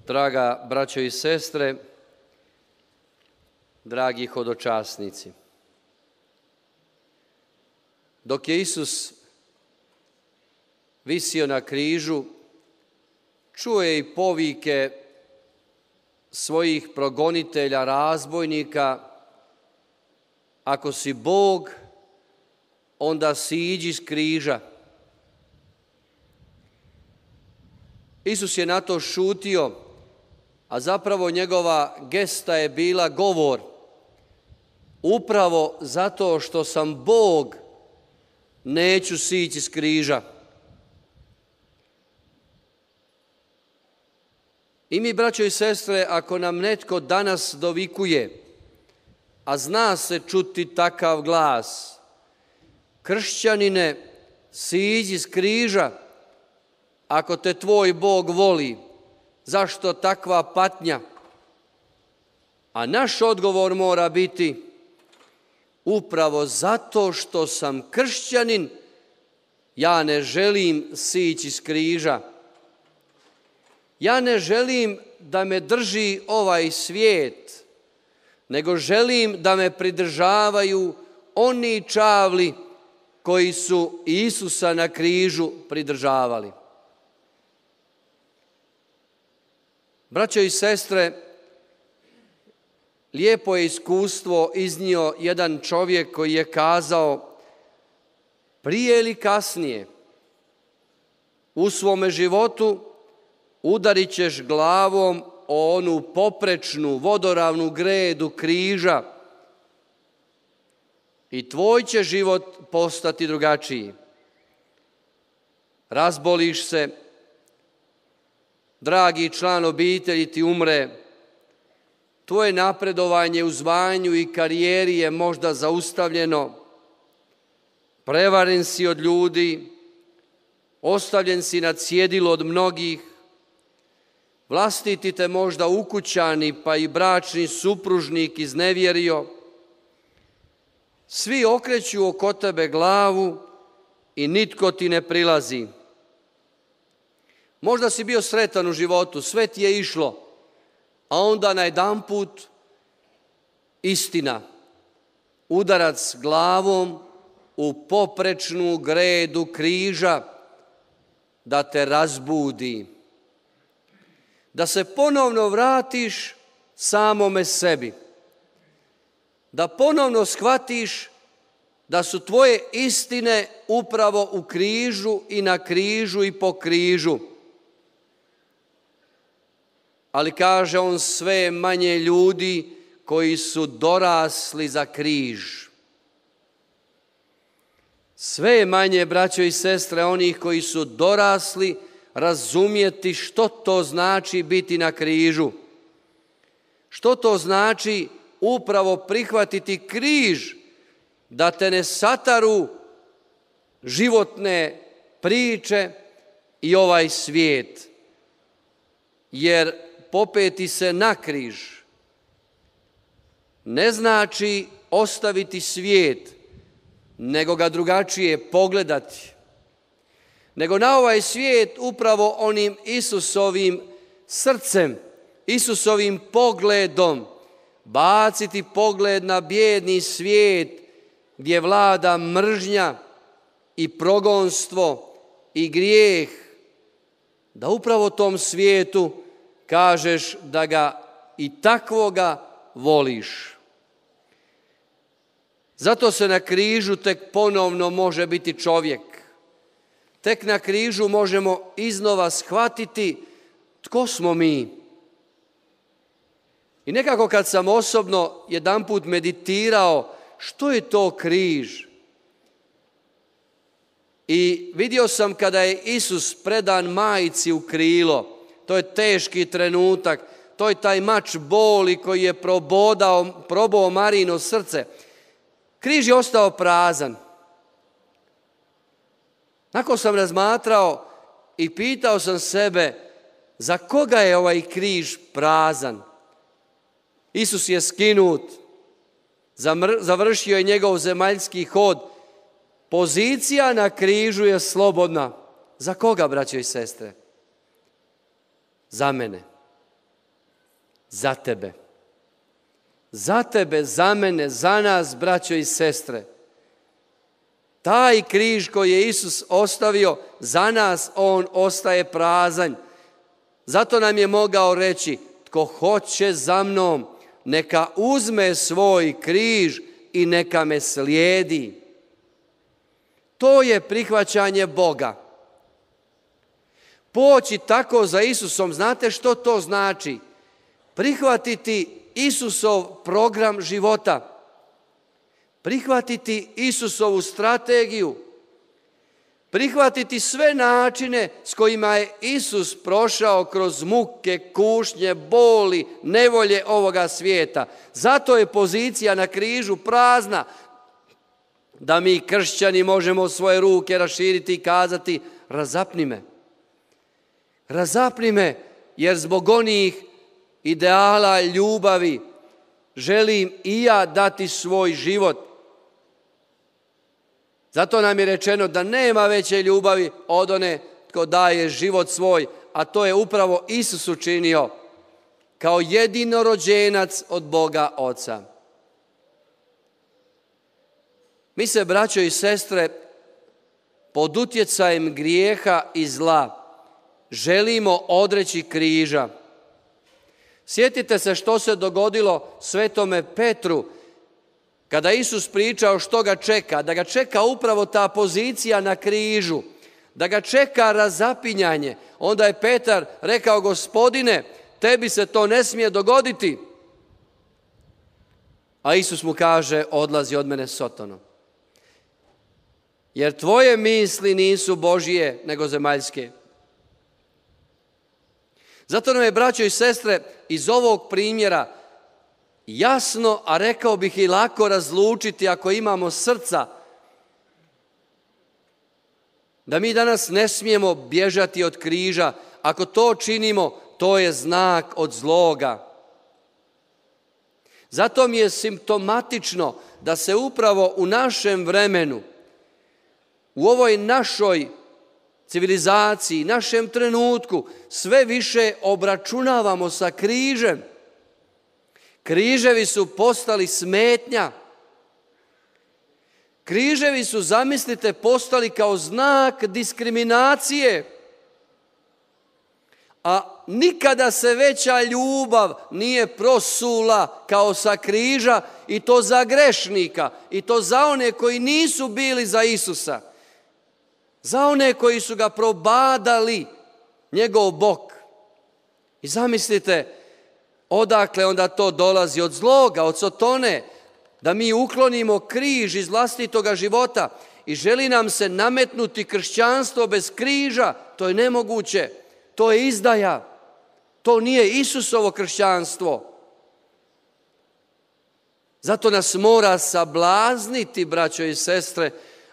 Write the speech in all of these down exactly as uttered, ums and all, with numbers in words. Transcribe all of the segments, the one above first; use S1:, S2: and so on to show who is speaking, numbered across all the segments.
S1: Draga braćo i sestre, dragi hodočasnici, dok je Isus visio na križu, čuo je i povike svojih progonitelja, razbojnika: ako si Bog, onda siđi s križa. Isus je na to šutio, a zapravo njegova gesta je bila govor: upravo zato što sam Bog, neću sići s križa. I mi, braćo i sestre, ako nam netko danas dovikuje, a zna se čuti takav glas: kršćanine, siđi s križa, ako te tvoj Bog voli, zašto takva patnja? A naš odgovor mora biti: upravo zato što sam kršćanin, ja ne želim sići s križa. Ja ne želim da me drži ovaj svijet, nego želim da me pridržavaju oni čavli koji su Isusa na križu pridržavali. Braćo i sestre, lijepo je iskustvo iznio jedan čovjek koji je kazao: prije ili kasnije u svome životu udarit ćeš glavom o onu poprečnu vodoravnu gredu križa i tvoj će život postati drugačiji. Razboliš se, dragi član obitelji ti umre, tvoje napredovanje u zvanju i karijeri je možda zaustavljeno, prevaren si od ljudi, ostavljen si na cjedilu od mnogih, vlastiti te možda ukućani pa i bračni supružnik iznevjerio, svi okreću oko tebe glavu i nitko ti ne prilazi. Možda si bio sretan u životu, sve ti je išlo, a onda najedanput istina, udarac glavom u poprečnu gredu križa da te razbudi, da se ponovno vratiš samome sebi, da ponovno shvatiš da su tvoje istine upravo u križu i na križu i po križu. Ali kaže on, sve manje ljudi koji su dorasli za križ. Sve manje, braćo i sestre, onih koji su dorasli razumjeti što to znači biti na križu. Što to znači upravo prihvatiti križ, da te ne sataru životne priče i ovaj svijet. Jer popeti se na križ ne znači ostaviti svijet, nego ga drugačije pogledati. Nego na ovaj svijet upravo onim Isusovim srcem, Isusovim pogledom, baciti pogled na bijedni svijet gdje vlada mržnja i progonstvo i grijeh, da upravo tom svijetu kažeš da ga i takvoga voliš. Zato se na križu tek ponovno može biti čovjek. Tek na križu možemo iznova shvatiti tko smo mi. I nekako kad sam osobno jedanput meditirao što je to križ, i vidio sam kada je Isus predan majci u krilo, to je teški trenutak, to je taj mač boli koji je probodao, probao Marijino srce. Križ je ostao prazan. Nakon sam razmatrao i pitao sam sebe, za koga je ovaj križ prazan? Isus je skinut, završio je njegov zemaljski hod, pozicija na križu je slobodna. Za koga, braćo i sestre? Za mene. za tebe. Za tebe, za mene, za nas, braćo i sestre. Taj križ koji je Isus ostavio, za nas on ostaje prazan. Zato nam je mogao reći, tko hoće za mnom, neka uzme svoj križ i neka me slijedi. To je prihvaćanje Boga. Poći tako za Isusom, znate što to znači? Prihvatiti Isusov program života. Prihvatiti Isusovu strategiju. Prihvatiti sve načine s kojima je Isus prošao kroz muke, kušnje, boli, nevolje ovoga svijeta. Zato je pozicija na križu prazna, da mi kršćani možemo svoje ruke raširiti i kazati, razapni me. Razapni me, jer zbog onih ideala ljubavi želim i ja dati svoj život. Zato nam je rečeno da nema veće ljubavi od one tko daje život svoj, a to je upravo Isus učinio kao jedinorođenac od Boga Oca. Mi se, braćo i sestre, pod utjecajem grijeha i zla želimo odreći križa. Sjetite se što se dogodilo svetome Petru kada Isus pričao što ga čeka, da ga čeka upravo ta pozicija na križu, da ga čeka razapinjanje. Onda je Petar rekao, Gospodine, tebi se to ne smije dogoditi. A Isus mu kaže, odlazi od mene Sotono. Jer tvoje misli nisu Božije, nego zemaljske. Zato nam je, braćo i sestre, iz ovog primjera jasno, a rekao bih i lako razlučiti ako imamo srca, da mi danas ne smijemo bježati od križa. Ako to činimo, to je znak od zloga. Zato mi je simptomatično da se upravo u našem vremenu, u ovoj našoj civilizaciji, našem trenutku, sve više obračunavamo sa križem. Križevi su postali smetnja. Križevi su, zamislite, postali kao znak diskriminacije. A nikada se veća ljubav nije prosula kao sa križa, i to za grešnika, i to za one koji nisu bili za Isusa. Za one koji su ga probadali, njegov bok. I zamislite, odakle onda to dolazi? Od zloga, od Sotone, da mi uklonimo križ iz vlastitoga života i želi nam se nametnuti kršćanstvo bez križa. To je nemoguće, to je izdaja, to nije Isusovo kršćanstvo. Zato nas mora sablazniti, braćo i sestre,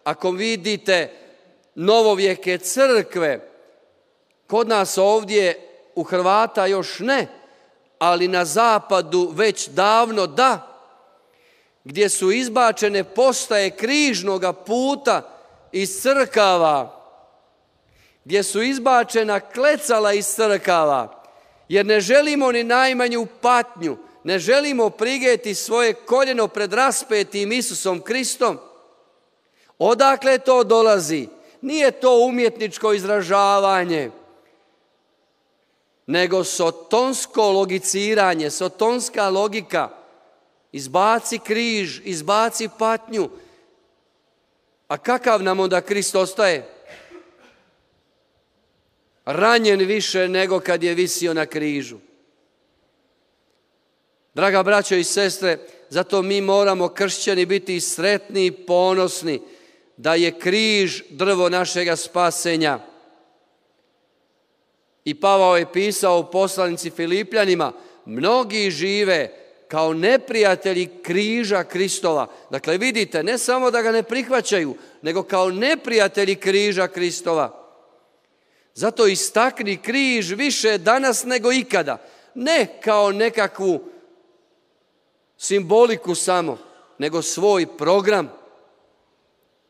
S1: ako vidite novovijeke crkve, kod nas ovdje u Hrvata još ne, ali na zapadu već davno da, gdje su izbačene postaje križnoga puta iz crkava, gdje su izbačena klecala iz crkava, jer ne želimo ni najmanju patnju, ne želimo prigeti svoje koljeno pred raspetim Isusom Kristom. Odakle to dolazi? Nije to umjetničko izražavanje, nego sotonsko logiciranje, sotonska logika. Izbaci križ, izbaci patnju. A kakav nam onda Krist ostaje? Ranjen više nego kad je visio na križu. Draga braćo i sestre, zato mi moramo, kršćani, biti sretni i ponosni da je križ drvo našega spasenja. I Pavao je pisao u poslanici Filipljanima, mnogi žive kao neprijatelji križa Kristova. Dakle, vidite, ne samo da ga ne prihvaćaju, nego kao neprijatelji križa Kristova. Zato istakni križ više danas nego ikada. Ne kao nekakvu simboliku samo, nego svoj program,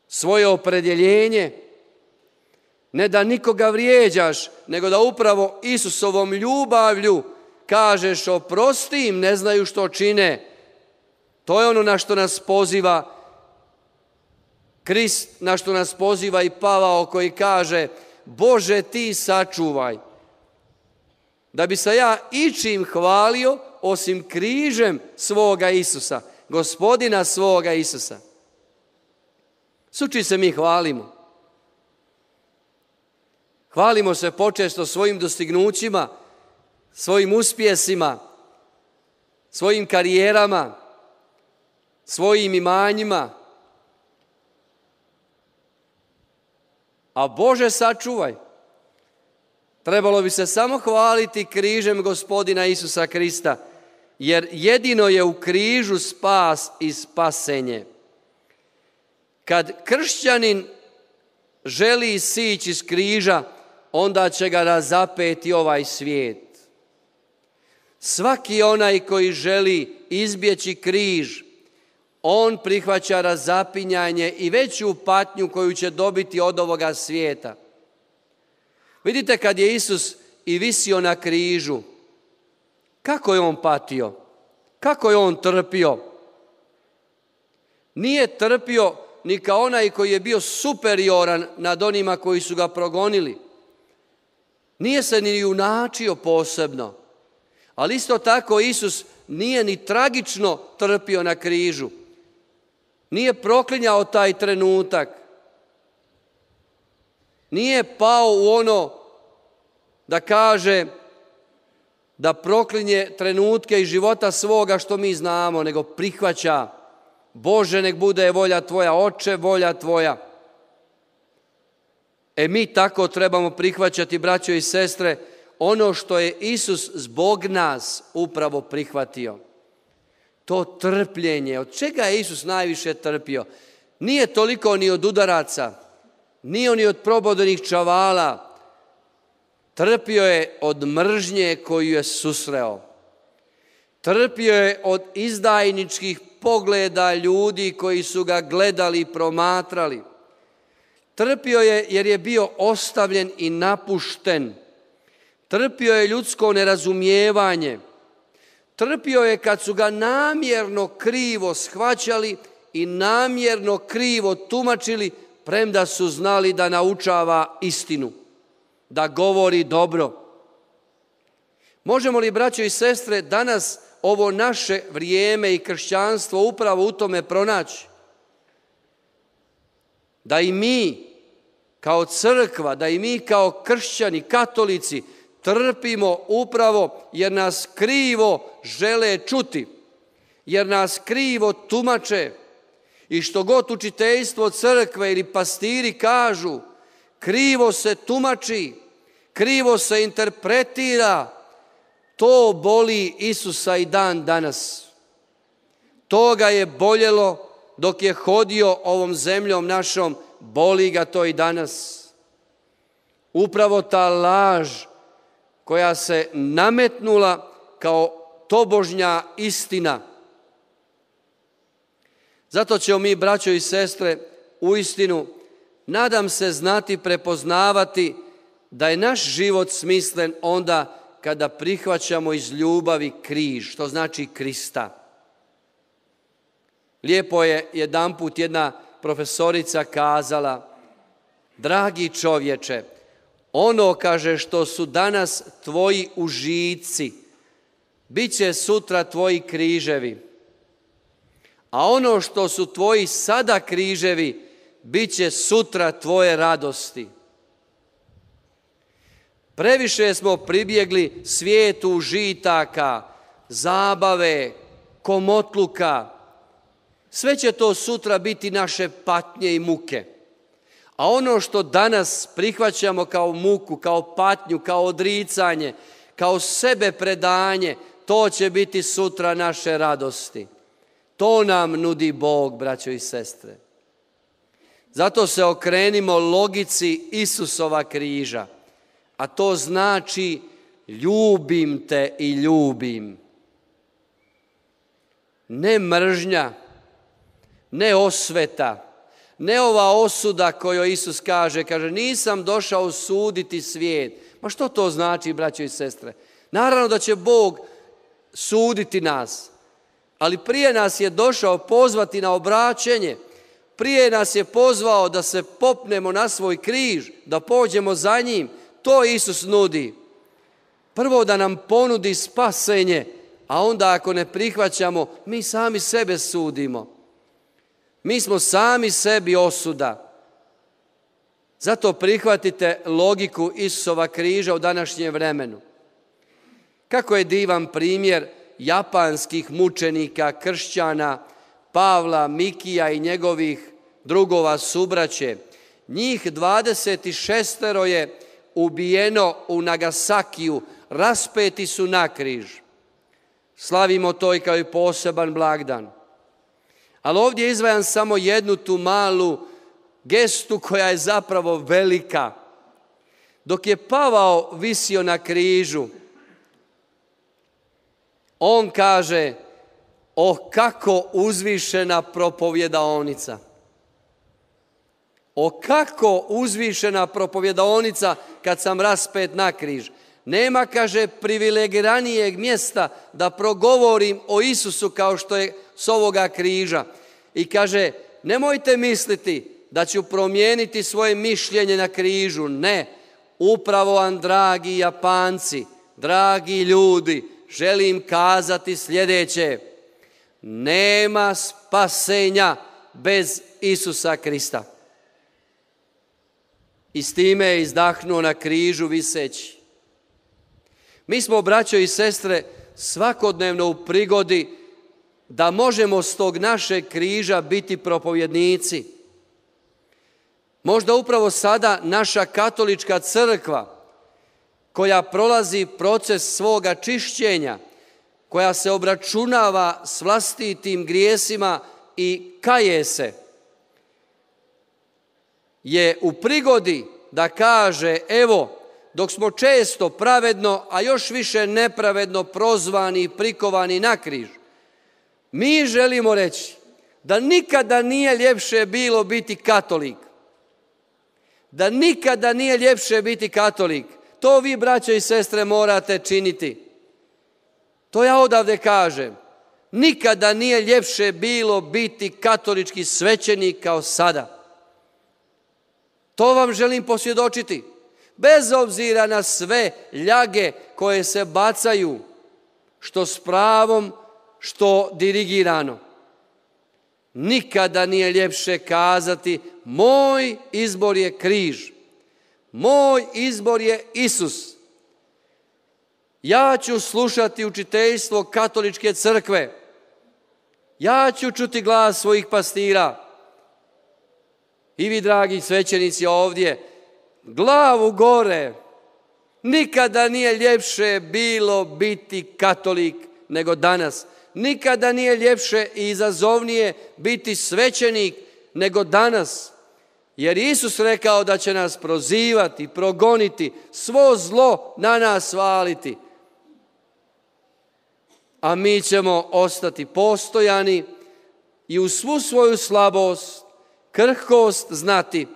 S1: svoje opredjeljenje. Ne da nikoga vrijeđaš, nego da upravo Isusovom ljubavlju kažeš oprosti im, ne znaju što čine. To je ono na što nas poziva Krist, na što nas poziva i Pavao koji kaže Bože ti sačuvaj. Da bi se ja ičim hvalio osim križem svoga Isusa, Gospodina svoga Isusa. Suči se mi hvalimo. Hvalimo se počesto svojim dostignućima, svojim uspjesima, svojim karijerama, svojim imanjima. A Bože sačuvaj, trebalo bi se samo hvaliti križem Gospodina Isusa Krista, jer jedino je u križu spas i spasenje. Kad kršćanin želi sići iz križa, onda će ga razapeti ovaj svijet. Svaki onaj koji želi izbjeći križ, on prihvaća razapinjanje i veću patnju koju će dobiti od ovoga svijeta. Vidite kad je Isus i visio na križu, kako je on patio, kako je on trpio. Nije trpio ni kao onaj koji je bio superioran nad onima koji su ga progonili. Nije se ni junačio posebno, ali isto tako Isus nije ni tragično trpio na križu. Nije proklinjao taj trenutak. Nije pao u ono da kaže da proklinje trenutke iz života svoga što mi znamo, nego prihvaća Bože nek bude volja Tvoja, Oče volja Tvoja. E mi tako trebamo prihvaćati, braćo i sestre, ono što je Isus zbog nas upravo prihvatio. To trpljenje, od čega je Isus najviše trpio? Nije toliko ni od udaraca, nije ni od probodenih čavala. Trpio je od mržnje koju je susreo. Trpio je od izdajničkih pogleda ljudi koji su ga gledali i promatrali. Trpio je jer je bio ostavljen i napušten. Trpio je ljudsko nerazumijevanje. Trpio je kad su ga namjerno krivo shvaćali i namjerno krivo tumačili, premda su znali da naučava istinu, da govori dobro. Možemo li, braćo i sestre, danas ovo naše vrijeme i kršćanstvo upravo u tome pronaći? Da i mi kao crkva, da i mi kao kršćani, katolici, trpimo upravo jer nas krivo žele čuti, jer nas krivo tumače i što god učiteljstvo crkve ili pastiri kažu, krivo se tumači, krivo se interpretira, to boli Isusa i dan danas. To ga je boljelo dok je hodio ovom zemljom našom, boli ga to i danas. Upravo ta laž koja se nametnula kao tobožnja istina. Zato ćemo mi, braćo i sestre, uistinu, nadam se, znati prepoznavati da je naš život smislen onda kada prihvaćamo iz ljubavi križ, što znači Krista. Lijepo je jedanput jedna profesorica kazala, dragi čovječe, ono, kaže, što su danas tvoji užici, bit će sutra tvoji križevi. A ono što su tvoji sada križevi, bit će sutra tvoje radosti. Previše smo pribjegli svijetu užitaka, zabave, komotluka. Sve će to sutra biti naše patnje i muke. A ono što danas prihvaćamo kao muku, kao patnju, kao odricanje, kao sebe predanje, to će biti sutra naše radosti. To nam nudi Bog, braćo i sestre. Zato se okrenimo logici Isusova križa, a to znači ljubim te i ljubim. Ne mržnja, ne osveta, ne ova osuda koju Isus kaže, kaže nisam došao suditi svijet. Ma što to znači, braćo i sestre? Naravno da će Bog suditi nas, ali prije nas je došao pozvati na obraćenje, prije nas je pozvao da se popnemo na svoj križ, da pođemo za njim. To Isus nudi. Prvo da nam ponudi spasenje, a onda ako ne prihvaćamo, mi sami sebe sudimo. Mi smo sami sebi osuda. Zato prihvatite logiku Isusova križa u današnjem vremenu. Kako je divan primjer japanskih mučenika, kršćana, Pavla, Mikija i njegovih drugova subraće. Njih dvadeset šest je ubijeno u Nagasakiju, raspeti su na križ. Slavimo to i kao i poseban blagdan. Ali ovdje izdvajam samo jednu tu malu gestu koja je zapravo velika. Dok je Pavao visio na križu, on kaže: "Oh, kako uzvišena propovjedaonica! O kako uzvišena propovjedaonica kad sam raspet na križ. Nema," kaže, "privilegiranijeg mjesta da progovorim o Isusu kao što je s ovoga križa." I kaže: "Nemojte misliti da ću promijeniti svoje mišljenje na križu. Ne, upravo vam, dragi Japanci, dragi ljudi, želim kazati sljedeće: nema spasenja bez Isusa Krista." I s time je izdahnuo na križu viseći. Mi smo, braćo i sestre, svakodnevno u prigodi da možemo s tog našeg križa biti propovjednici. Možda upravo sada naša katolička crkva, koja prolazi proces svoga čišćenja, koja se obračunava s vlastitim grijesima i kaje se, je u prigodi da kaže: evo, dok smo često pravedno, a još više nepravedno prozvani i prikovani na križ, mi želimo reći da nikada nije ljepše bilo biti katolik. Da nikada nije ljepše biti katolik. To vi, braćo i sestre, morate činiti. To ja odavde kažem. Nikada nije ljepše bilo biti katolički svećenik kao sada. To vam želim posvjedočiti. Bez obzira na sve ljage koje se bacaju, što s pravom, što dirigirano. Nikada nije ljepše kazati: moj izbor je križ. Moj izbor je Isus. Ja ću slušati učiteljstvo katoličke crkve. Ja ću čuti glas svojih pastira. I vi, dragi svećenici ovdje, glavu gore. Nikada nije ljepše bilo biti katolik nego danas. Nikada nije ljepše i izazovnije biti svećenik nego danas. Jer Isus rekao da će nas prozivati, progoniti, svo zlo na nas valiti. A mi ćemo ostati postojani i u svu svoju slabost, krhkost znati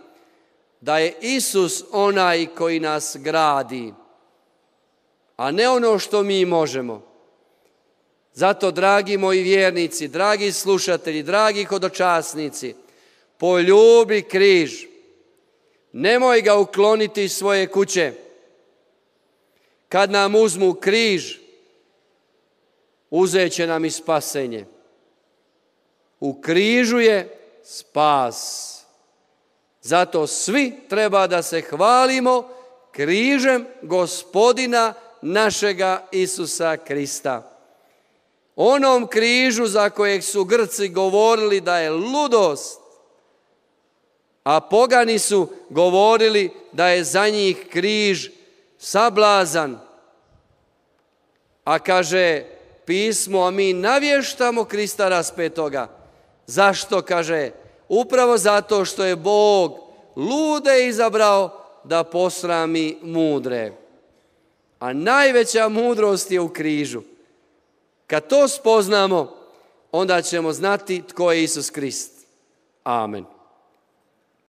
S1: da je Isus onaj koji nas gradi, a ne ono što mi možemo. Zato, dragi moji vjernici, dragi slušatelji, dragi hodočasnici, poljubi križ. Nemoj ga ukloniti iz svoje kuće. Kad nam uzmu križ, uzet će nam i spasenje. U križu je spas. Zato svi treba da se hvalimo križem Gospodina našega Isusa Krista. Onom križu za kojeg su Grci govorili da je ludost, a pogani su govorili da je za njih križ sablazan. A kaže pismo: a mi navještamo Krista raspetoga. Zašto? Kaže, upravo zato što je Bog lude izabrao da posrami mudre. A najveća mudrost je u križu. Kad to spoznamo, onda ćemo znati tko je Isus Krist. Amen.